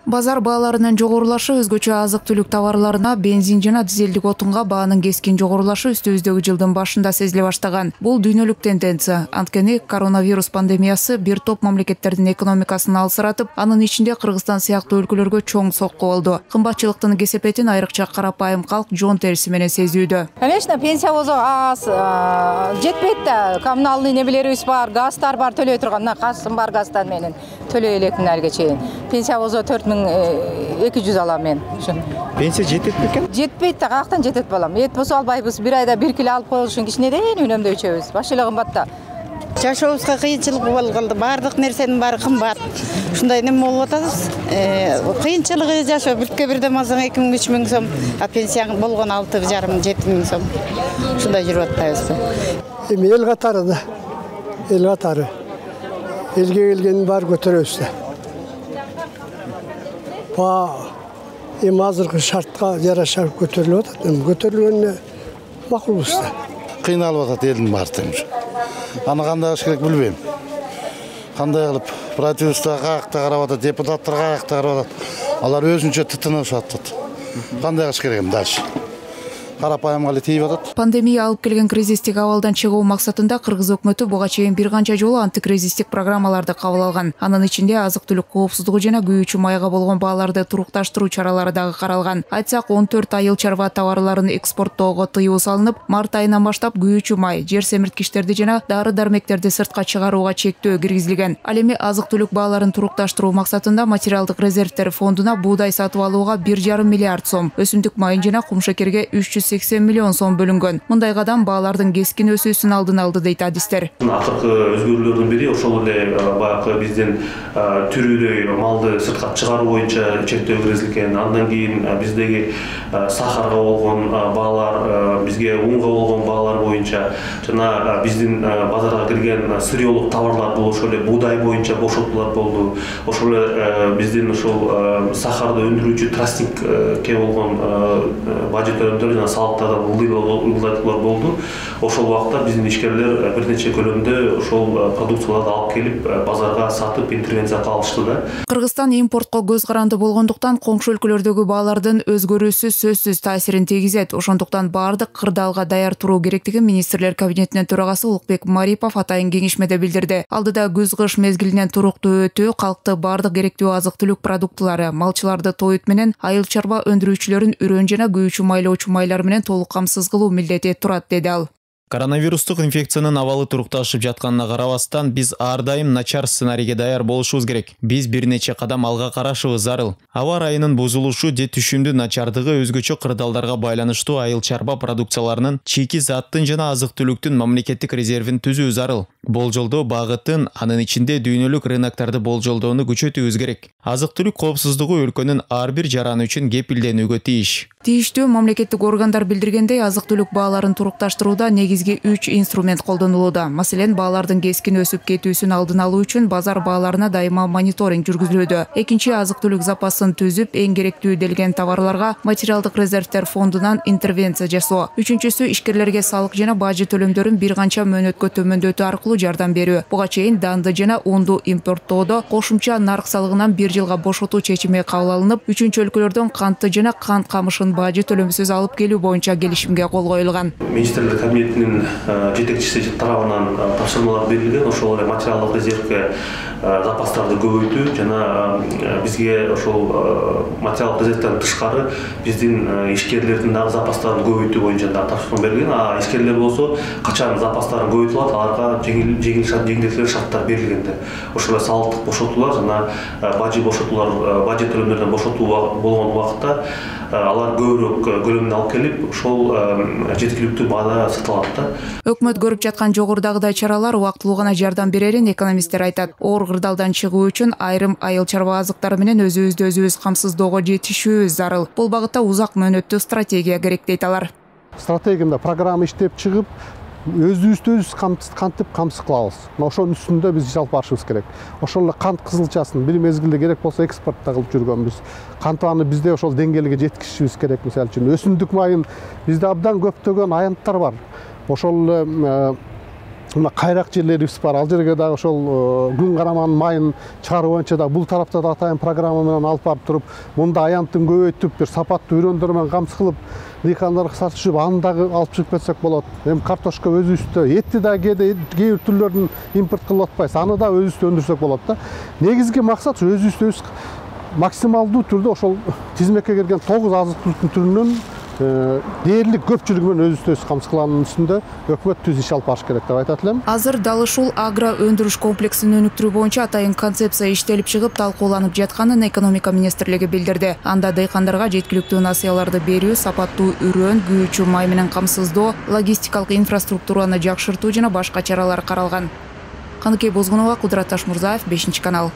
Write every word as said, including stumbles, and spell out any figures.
Базар бааларынын жогорулашы өзгөчө азык-түлүк товарларына, бензин жана дизелдик отунга баанын кескин жогорулашы үстүбүздөгү жылдын башында сезиле баштаган. Бул дүйнөлүк тенденция. Анткени коронавирус пандемиясы бир топ мамлекеттердин экономикасын алсыратып, анын ичинде Кыргызстан сыяктуу өлкөлөргө чоң сокку болду. Кымбатчылыктын кесепетин айрыкча карапайым калк жон териси менен сезүүдө. Конечно, пенсия болсо аз жетпейт да. Коммуналдык небелерибиз бар, газдар бар, төлөй турган. Касым бар газдан менен төлөй элекмин алга чейин. Пенсия болсо төрт миң эки жүз алам мен. Пенсия жетет бекен? Жетпейт да, каяктан жетет балам. Эт болсо албайбыз. Бир айда бир кило алып коюш үчүн кичинеден үнөмдөй ичебиз. Баш эле кымбат да. Жашообузга кыйынчылык болуп калды. Бардык нерсенин баары кымбат. Ушундай неме болуп атабыз. Кыйынчылыгы жашоо бирке бирден алсаң эки миң үч миң сом, а пенсияң болгон алты жарым жети миң сом. Ушундай жүрүп атабыз. Эми эл катары да. Эл катары. Элге келгенин баары көтөрөбүз да. Ба эми азыркы шартка жараша көтөрүлүп атат. Эми көтөрүлгөнүнө макулбуз да. Кыйналып атат элдин баары. Аны кандай кылыш керек билбейм. Кандай кылып правительство каякта карап атат, депутаттар каякта карап атат. Алар өзүнчө тытынышып атат. Кандай кылыш керек дальше? Карапайым эле тийип атат. Пандемия алып келген кризистик абалдан чыгуу максатында Кыргыз өкмөтү буга чейин бир канча жолу антикризистик программаларды кабыл алган. Анын ичинде азык-түлүк коопсуздугу жана күйүүчү майга болгон бааларды турукташтыруу чаралары дагы каралган. Айтсак, он төрт айыл чарба товарларын экспорттоого тыюу салынып, март айынан баштап күйүүчү май, жер семирткичтерди жана дары-дармектерди сыртка чыгарууга чектөө киргизилген. Ал эми азык-түлүк бааларын турукташтыруу максатында материалдык резервтер фондуна буудай сатып алууга бир жарым миллиард сом, өсүмдүк майын жана кумшекерге үч жүз сексен миллион сом бөлүнгөн. Мындай кадам баалардын кескин өсүүсүн алдын алды дейт адистер. Акыркы өзгөрүүлөрдүн бири ошол эле баягы биздин түрүдөй малды сыртка чыгаруу боюнча чектөө киргизилген. Андан кийин биздеги сахарга болгон баалар, бизге унга болгон баалар боюнча жана биздин базарга кирген сырьёлук товарлар бул ошол эле буудай боюнча бошотуулар болду. Ошол эле биздин ошол сахарды өндүрүүчү тростникке болгон бажы төлөмдөр жана салыктардан ылдайтуулар болду. Ошол убакта биздин ишкерлер бир нече көлөмдө ошол продукцияларды алып келип базарга сатып интервенция кылышты да. Кыргызстан импортко көз каранды болгондуктан коңшу өлкөлөрдөгү баалардын өзгөрүүсү сөзсүз таасирин тийгизет. Ошондуктан баардык кырдаалга даяр туруу керектигин министрлер кабинетинин төрагасы Улукбек Марипов атайын кеңешмеде билдирди. Алдыда күз-кыш мезгилинен туруктуу өтүү, калкты баардык керектүү азык-түлүк продуктылары, малчыларды тоют менен айыл чарба өндүрүүчүлөрүн үрөн жана күйүүчү майлоочу майлар менен толук камсыз кылуу милдети турат, деди ал. Коронавирустук инфекциянын абалы турукташып жатканына карабастан, биз ар дайым начар сценарийге даяр болушубуз керек. Биз бир нече кадам алга карашыбыз зарыл. Аба ырайынын бузулушу же түшүмдүн начардыгы өзгөчө кырдаалдарга байланыштуу айыл чарба продукцияларынын, чийки заттын жана азык-түлүктүн мамлекеттик резервин түзүү зарыл. Болжолдоо багытын, анын ичинде дүйнөлүк рыноктарды болжолдоону күчөтүүбүз керек. Азык-түлүк коопсуздугу өлкөнүн ар бир жараны үчүн кепилденүүгө тийиш. Тийиштүү мамлекеттик органдар билдиргендей, азык-түлүк бааларын турукташтырууда негизги үч инструмент колдонулууда. Маселен, баалардын кескин өсүп кетүүсүн алдын алуу үчүн базар бааларына дайыма мониторинг жүргүзүлүүдө. Экинчи, азык-түлүк запасын түзүп, эң керектүү делген товарларга материалдык резервтер фондунан интервенция жасоо. Үчүнчүсү, ишкерлерге салык жана бажы төлөмдөрүн бир канча мөөнөткө төмөндөтүү аркылуу жардам берүү. Буга чейин данды жана унду импорттоодо кошумча нарк салыгынан бир жылга бошотуу чечими кабыл алынып, үчүнчү өлкөлөрдөн кантты жана кант камышын бажы төлөмсүз алып келүү боюнча келишимге кол коюлган. Министрлер кабинетинин жетекчиси тарабынан тапшырмалар берилген. Ошол эле материалдык резервге запастарды көбөйтүү жана бизге ошол материалдык резервден тышкары биздин ишкерлердин дагы запастарын көбөйтүү боюнча да тапшырма берилген. А ишкерлер болсо качан запастарын көбөйтүп алат, аларга жеңил жеңилдетилген шарттар берилген да. Ошол эле салыктык бошотуулар жана бажы бошотуулар, бажы төлөмдөрдөн бошотуу болгон убакта алар көбүрөөк көлөмүн алып келип, ошол жеткиликтүү баада сатылат да. Өкмөт көрүп жаткан жогорудагыдай чаралар убактылуу гана жардам берерин экономисттер айтат. Оор кырдаалдан чыгуу үчүн айрым айыл чарба азыктары менен өзүбүздү өзүбүз камсыздоого жетишүүбүз зарыл. Бул багытта узак мөөнөттүү стратегия керек, дейт алар. Стратегияда программа иштеп чыгып, өзүбүздү өзүбүз кантип камсыз кылабыз. Ошонун үстүндө биз жалпы барышыбыз керек. Ошол эле кант кызылчасын бир мезгилде керек болсо экспортто кылып жүргөнбүз. Кантаны бизде ошол деңгээлге жеткизишибиз керек. Мисалы үчүн өсүмдүк майын бизде абдан көптөгөн аянттар бар. Ошол мына кайрак жерлерибиз бар. Ал жерге дагы ошол күн караманын майын чыгаруу боюнча да бул тарапта да атайын программа менен алып барып туруп, мында аянттын көбөйтүп, бир сапаттуу үрөндөр менен камсыз кылып дыйкандарга сатышып, аны дагы алып чыгып кетсек болот. Эми картошка өзүбүздө, этти да кээде кээ бир түрлөрүн импорт кылып атпайбыз. Аны да өзүбүздө өндүрсөк болот да. Негизги максат өзүбүздө максималдуу түрдө ошол тизмекке кирген тогуз азык-түлүктүн түрүнүн дээрлик көпчүлүгү менен өзүбүздө камсыз кылуунун үстүндө өкмөт түз иш алып барыш керек деп айтат элем. Азыр дал ушул агро өндүрүш комплексин өнүктүрүү боюнча атайын концепция иштелип чыгып, талкууланып жатканын экономика министрлиги билдирди. Анда дыйкандарга жеткиликтүү насыяларды берүү, сапаттуу үрөн, күйүүчү май менен камсыздоо, логистикалык инфраструктураны жакшыртуу жана башка чаралар каралган. Каныкей Бозгунова, Кудурат Ташмурзаев, бешинчи канал.